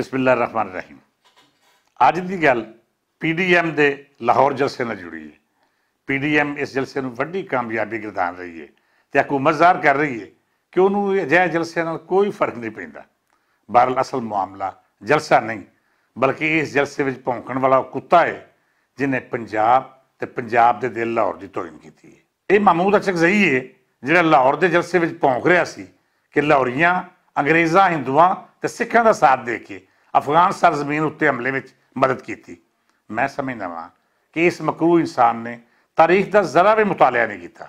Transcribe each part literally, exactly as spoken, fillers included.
بسم اللہ الرحمن الرحیم۔ اج دی گل پی ڈی ایم دے لاہور جلسے نال جڑی ہے۔ پی ڈی ایم اس جلسے نوں وڈی کامیابی گردان رہی ہے تے حکومت ظاہر کر رہی ہے کہ انہوں اجہے جلسے نال کوئی فرق نہیں پیندا۔ بہرحال اصل معاملہ جلسہ نہیں، بلکہ اس جلسے وچ بھونکن والا کتا ہے، جنہیں پنجاب تے پنجاب دے دل لاہور دی توہین کیتی ہے۔ یہ محمود اچک زئی ہے، جڑا لاہور دے جلسے وچ بھونک رہا سی کہ لاہوریاں انگریزاں، ہندوؤں تے سکھاں دا ساتھ دے کے افغان سرزمین اُتے حملے وچ مدد کیتی۔ میں سمجھدا واں کہ اس مکروہ انسان نے تاریخ دا ذرا وی مطالعہ نہیں کیتا۔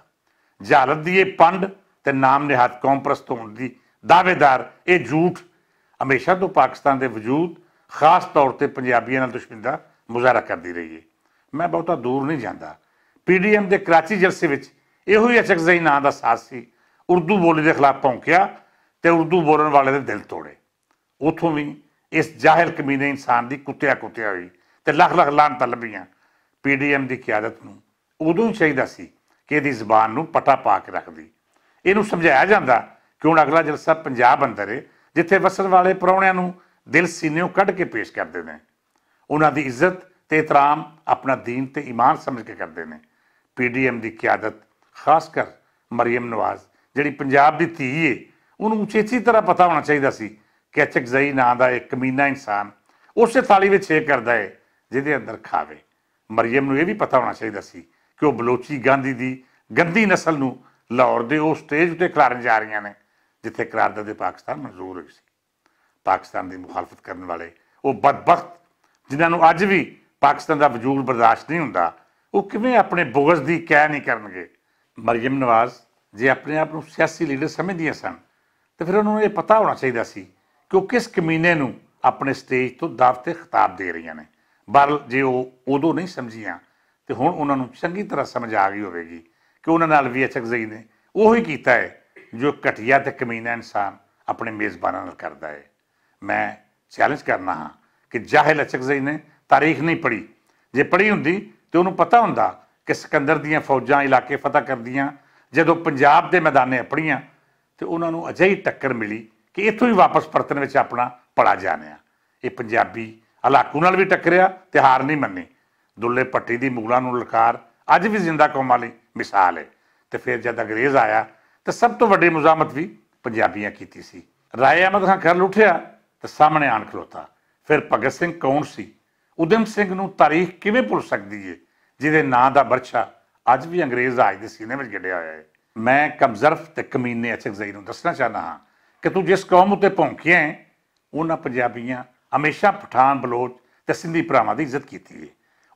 جہالت دی یہ پنڈ تے نام نہاد قوم پرست ہون دی دعوے دار یہ جھوٹ ہمیشہ تو پاکستان دے وجود، خاص طور تے پنجابیاں نال دشمنی دا مظاہرہ کردی رہی ہے۔ میں بہتا دور نہیں جاندا۔ پی ڈی ایم دے کراچی جلسے وچ ایہو ہی اچکزئی ناں دا ساتھ سی، اردو بولی دے خلاف بھونکیا تے اردو بولن والے دے دل توڑے۔ اتھوں وی اس جاہل کمینے انسان دی کتیا کتیا ہوئی تے لکھ لکھ لعنتاں لبھیاں۔ پی ڈی ایم دی قیادت نوں ادوں ہی چاہیدا سی کہ ایہدی زبان نوں پٹا پا کے رکھ دی۔ اینوں سمجھایا جاندا کہ ہن اگلا جلسہ پنجاب اندر ہے، جتھے وسن والے پراہنیاں نوں دل سینیوں کڈ کے پیش کردے نے۔ انہاں دی عزت تے احترام اپنا دین تے ایمان سمجھ کے کردے نے۔ پی ڈی ایم دی قیادت، خاص کر مریم نواز، جڑی پنجاب دی تھی ہے، انہوں اچھے اچھی طرح پتہ ہونا چاہیدا سی کہ اچکزئی ناں دا ایک کمینہ انسان اسے تھالی وچ چھے کردا ہے جدے اندر کھاوے۔ مریم نوں یہ بھی پتہ ہونا چاہیدا سی کہ وہ بلوچی گاندھی دی گندی نسل نوں لاہور دے اس سٹیج اتے کھلارن جا رہیاں نے، جتھے قرارداد پاکستان منظور ہوئی سی۔ پاکستان دی مخالفت کرن والے وہ بدبخت، جنہاں نوں اج وی پاکستان دا وجود برداشت نہیں ہوندا، وہ کیویں اپنے بغض دی کہہ نہیں کرنگے؟ مریم نواز جے اپنے آپ نوں سیاسی لیڈر سمجھدیاں سن، تے پھر انہوں نوں یہ پتہ ہونا چاہیدا سی کہ وہ کس کمینے نوں اپنے سٹیج تو دعوت خطاب دے رہیاں نے۔ بہرحال جے وہ ادوں نہیں سمجھیاں، تے ہن انہاں نوں چنگی طرح سمجھ آ گئی ہووے گی کہ انہاں نال وی اچکزئی نے اوہی کیتا ہے جو گھٹیا تے کمینہ انسان اپنے میزباناں نال کردا ہے۔ میں چیلنج کرنا ہاں کہ جاہل اچکزئی نے تاریخ نہیں پڑھی۔ جے پڑھی ہوندی تے انہوں پتہ ہوندا کہ سکندر دیاں فوجاں علاقے فتح کردیاں جدوں پنجاب دے میدانے اپڑیاں، تے انہاں نوں اجہی ٹکر ملی کہ اتھوں ہی واپس پرتن وچ اپنا پڑا جانیا۔ یہ پنجابی ہلاکو نال وی ٹکریا تے ہار نہیں منی۔ دلے پٹی دی مغلاں نوں للکار اج وی زندہ قوماں لئی مثال ہے۔ تے پھر جد انگریز آیا، تے سب تو وڈی مزاحمت وی پنجابیاں کیتی سی۔ رائے احمد خان کھر لٹھیا تے سامنے آن کھلوتا۔ پھر بھگت سنگھ کون سی؟ ادھم سنگھ نوں تاریخ کیویں بھل سکدی ہے، جس دے ناں دا برچھا اج وی انگریز راج دے سینے وچ گڈیا ہویا ہے؟ میں کمزرف تے کمینے اچکزئی نوں دسنا چاہنا ہاں کہ تو جس قوم اتے بھونکیا ہے، انہاں پنجابیاں ہمیشہ پٹھان بلوچ تے سندھی پراواں دی عزت کیتی ہے۔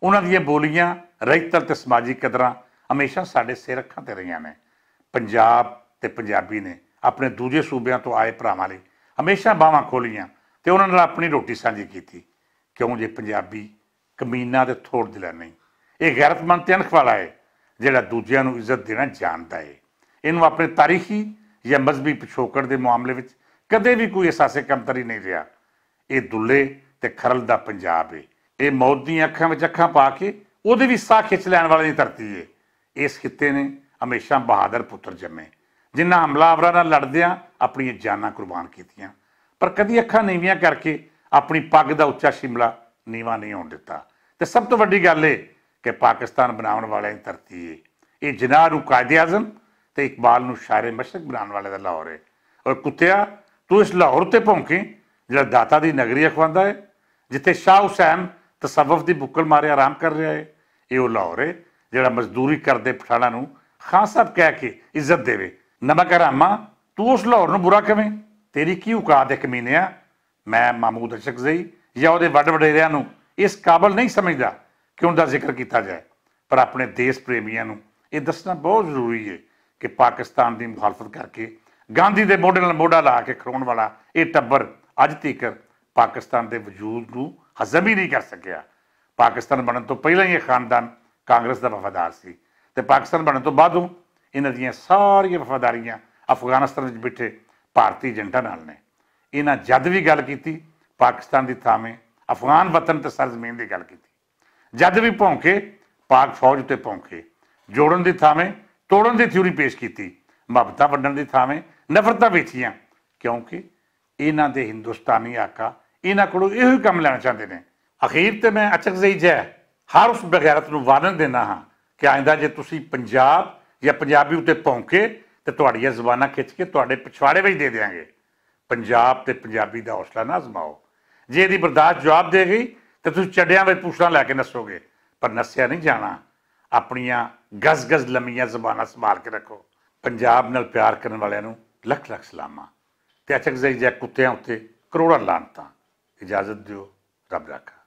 انہاں دیاں بولیاں، رہی تل تے سماجی قدراں ہمیشہ ساڈے سر اکھاں تے رہیاں نے۔ پنجاب تے پنجابی نے اپنے دوجے صوبیاں تو آئے پراواں لئی ہمیشہ باہواں کھولیاں تے انہاں نال اپنی روٹی سانجھی کیتی۔ کیوں جے پنجابی کمینہ تے تھوڑ دلا نہیں، ایہہ غیرت مند تے انکھ والا ہے، جیہڑا دوجیاں نوں عزت دینا جاندا ہے۔ اینوں اپنے تاریخی یا مذہبی پچھوکڑ دے معاملے وچ کدے وی کوئی احساس کمتری نہیں رہیا۔ ایہہ دلے تے کھرل دا پنجاب ہے۔ ایہہ موت دیاں اکھاں وچ اکھاں پا کے اوہدے وی ساہ کھچ لین والے دی دھرتی ہے۔ اس خطے نے ہمیشہ بہادر پتر جمے، جنہاں حملہ آوراں نال لڑدیاں اپنیاں جاناں قربان کیتیاں، پر کدی اکھاں نیویاں کر کے اپنی پگ دا اچا شملہ نیواں نہیں ہون دتا۔ تے سب توں وڈی گل اے کہ پاکستان بناون والے دی دھرتی اے۔ اے جناح نوں قائد اعظم تے اقبال نوں شاعر مشرق بناون والے دا لاہور اے۔ اور کتیا، تو اس لاہور تے بھونکیں جڑا داتا دی نگری اخواندا اے، جتھے شاہ حسین تصوف دی بکل مارے آرام کر رہیا اے۔ اے او لاہور اے جڑا مزدوری کردے پٹھانا نوں خان صاحب کہہ کے عزت دے وے۔ نمک حراما، تو اس لاہور نوں برا کہیں؟ تیری کی اوقات اے کمینیا؟ میں محمود اشکزئی یا اوہدے وڈ وڈیریاں نوں اس قابل نہیں سمجھدا کہ ان دا ذکر کیتا جائے، پر اپنے دیس پریمیاں نوں ایہہ دسنا بہت ضروری ہے کہ پاکستان دی مخالفت کر کے گاندھی دے موڈے نال موڈا لا کے کھلون والا ایہہ ٹبر اج تیکر پاکستان دے وجود نوں ہضم ہی نہیں کر سکیا۔ پاکستان بنن توں پہلاں ہی ایہہ خاندان کانگریس دا وفادار سی، تے پاکستان بنن توں بعدوں انہاں دیاں ساریاں وفاداریاں افغانستان وچ بیٹھے بھارتی ایجنٹاں نال نے۔ انہاں جد وی گل کیتی، پاکستان دی تھاویں افغان وطن تے سرزمین دی گل کیتی۔ جد وی بھونکے، پاک فوج اتے بھونکے، جوڑن دی تھاویں توڑن دی تھیوری پیش کیتی، محبتاں ونڈن دی تھاویں نفرتاں ویچیاں، کیونکہ انہاں دے ہندوستانی آقا انہاں کولوں ایہو ہی کم لینا چاہندے نے۔ اخیر تے میں اچک زئی جے ہر اس بغیرت نوں وارن دینا ہاں کہ آئندہ جے تسی پنجاب یا پنجابی اتے پھونکے تے تہاڈیاں زباناں کھچ کے تہاڈے پچھواڑے وچ دے دیاں گے۔ پنجاب تے پنجابی دا حوصلہ نہ آزماؤ۔ جے ایہدی برداشت جواب دے گئی تے تسی چڈیاں وچ پوچھنا لے کے نسو گے، پر نسیا نہیں جانا۔ اپنیاں گز گز لمیاں زباناں سنبھال کے رکھو۔ پنجاب نال پیار کرن والیاں نوں لکھ لکھ سلاماں۔ تے اچک زئی جے کتیاں اتے کروڑاں لعنتاں۔ اجازت دیو، رب رکھا۔